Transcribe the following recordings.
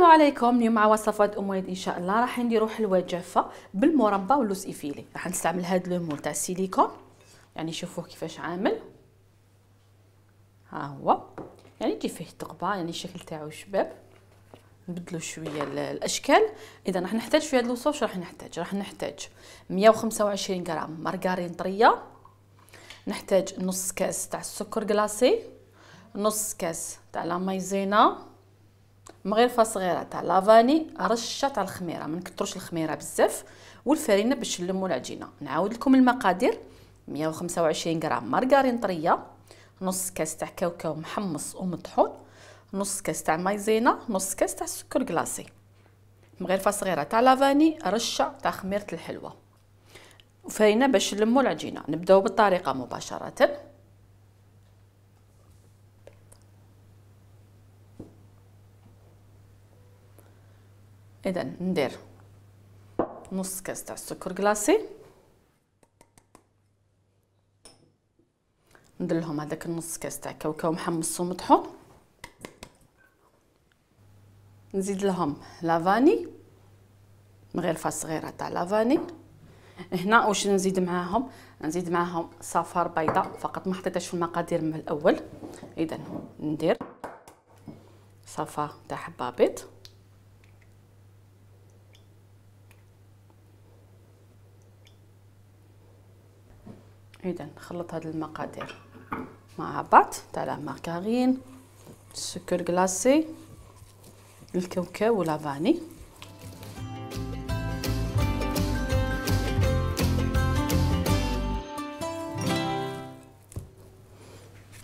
السلام عليكم. اليوم مع وصفات ام وليد ان شاء الله راح نديروا حلوه جافه بالمربى واللوز ايفيلي. راح نستعمل هذا المول تاع السيليكون، يعني شوفوه كيفاش عامل. ها هو يعني يجي فيه تقبه، يعني الشكل تاعو شباب. نبدلوا شويه الاشكال. اذا راح نحتاج في هذا الوصف راح نحتاج 125 غرام مارغرين طريه، نحتاج نص كاس تاع السكر كلاصي، نص كاس تاع لا مايزينا، مغرفه صغيره تاع لافاني، رشه تاع الخميره، ما نكثروش الخميره بزاف، والفرينه باش نلموا العجينه. نعاود لكم المقادير: 125 غرام مارغرين طريه، نص كاس تاع كاوكاو محمص ومطحون، نص كاس تاع مايزينا، نص كاس تاع السكر كلاصي، مغرفه صغيره تاع لافاني، رشه تاع خميره الحلوه، وفرينه باش نلموا العجينه. نبداو بالطريقه مباشره. اذا ندير نص كاس تاع السكر كلاصي، ندير لهم هذاك النص كاس تاع كاوكاو محمص ومطحون، نزيد لهم لافاني، مغرفه صغيره تاع لافاني. هنا واش نزيد معاهم؟ نزيد معاهم صفار بيضاء فقط، ما حطيتهاش في المقادير من الاول. اذا ندير صفار تاع حبه بيض، اذا نخلط هاد المقادير مع بعض تاع لا مارغرين، السكر كلاصي، الكاوكاو واللافاني.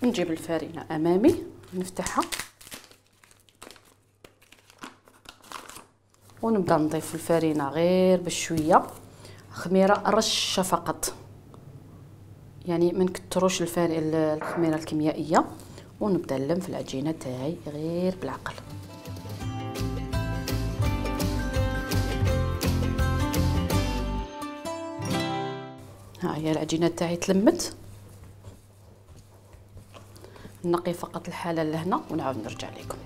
نجيب الفرينه امامي، نفتحها ونبدا نضيف الفرينه غير بشويه خميره، رشه فقط، يعني ما نكثروش الخميره الكيميائيه، ونبدا نلم في العجينه تاعي غير بالعقل. ها هي العجينه تاعي تلمت، نقي فقط الحاله لهنا ونعاود نرجع لكم.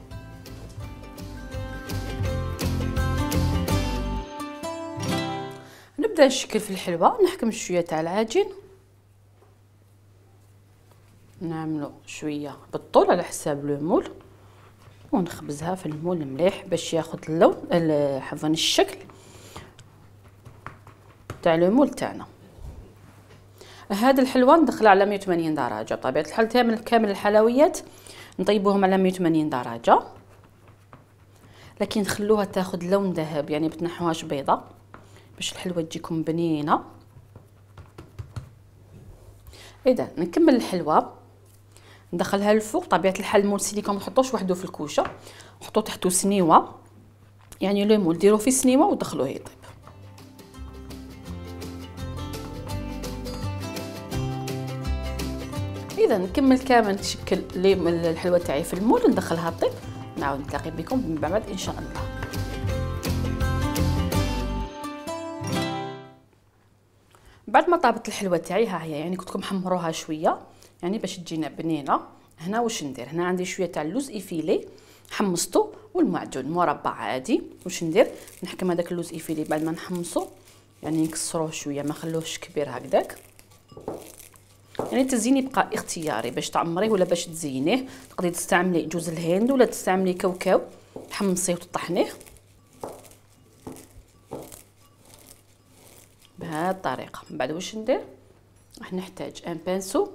نبدا نشكل في الحلوه، نحكم شويه تاع العجين، نعملو شويه بالطول على حساب لو مول، ونخبزها في المول مليح باش ياخذ اللون عفوا الشكل تاع لو مول تاعنا. هاد الحلوه ندخلها على 180 درجه. بطبيعه الحال كامل الحلويات نطيبوهم على 180 درجه، لكن نخلوها تاخذ لون ذهب، يعني بتنحوهاش بيضه باش الحلوه تجيكم بنينه. اذا نكمل الحلوه، ندخلها للفوق. طبيعه الحال المول السيليكون ما تحطوش وحده في الكوشه، حطوا تحته سنيوه، يعني لو مول ديروه في سنيوه ودخلوه يطيب. اذا نكمل كامل نشكل الحلوه تاعي في المول وندخلها طيب. نعاود نتلاقي بكم من بعد ان شاء الله. بعد ما طابت الحلوه تاعي، ها هي يعني كنت محمروها شويه يعني باش تجينا بنينه. هنا واش ندير؟ هنا عندي شويه تاع اللوز ايفيلي حمصته، والمعجون مربع عادي. واش ندير؟ نحكم هذاك اللوز ايفيلي بعد ما نحمصه، يعني نكسروه شويه ما خلوهش كبير هكذاك. يعني التزيين يبقى اختياري، باش تعمريه ولا باش تزينيه. تقدري تستعملي جوز الهند ولا تستعملي كاوكاو تحمصيه وتطحنيه بهذه الطريقه. من بعد واش ندير؟ راح نحتاج ان بانسو،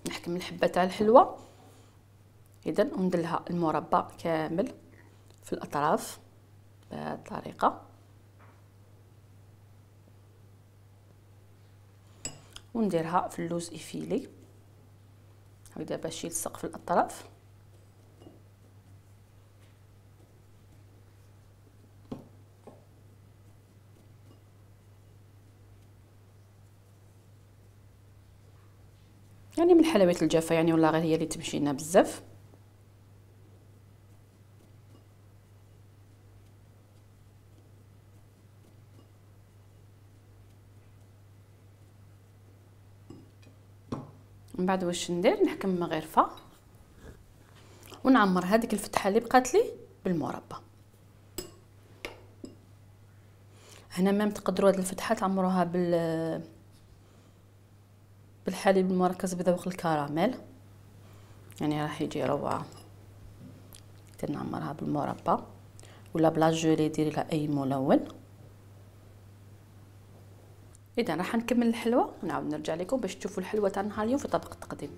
نحكم الحبه تاع الحلوه. اذا وندلها المربى كامل في الاطراف بهذه الطريقه، ونديرها في اللوز ايفيلي هكذا باش يلصق في الاطراف. يعني من الحلويات الجافه يعني والله غير هي اللي تمشي لنا بزاف. من بعد واش ندير؟ نحكم مغرفه ونعمر هذيك الفتحه اللي بقات لي بالمربى. هنا مام تقدروا هذه الفتحه تعمروها بالحليب المركز بذوق الكراميل، يعني راح يجي روعه. نعمرها بالمربى ولا بلا جولي، ديري لها اي ملون. اذا راح نكمل الحلوه ونعاود نرجع لكم باش تشوفوا الحلوه تاع نهار اليوم في طبق التقديم.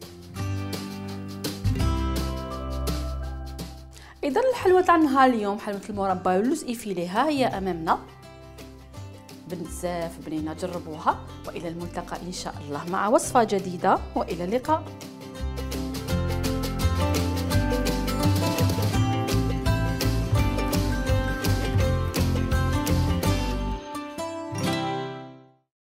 اذا الحلوه تاع نهار اليوم حلوه المربى واللوز ايفيلي ها هي امامنا، بزاف بنينه، جربوها. والى الملتقى ان شاء الله مع وصفه جديده، والى اللقاء.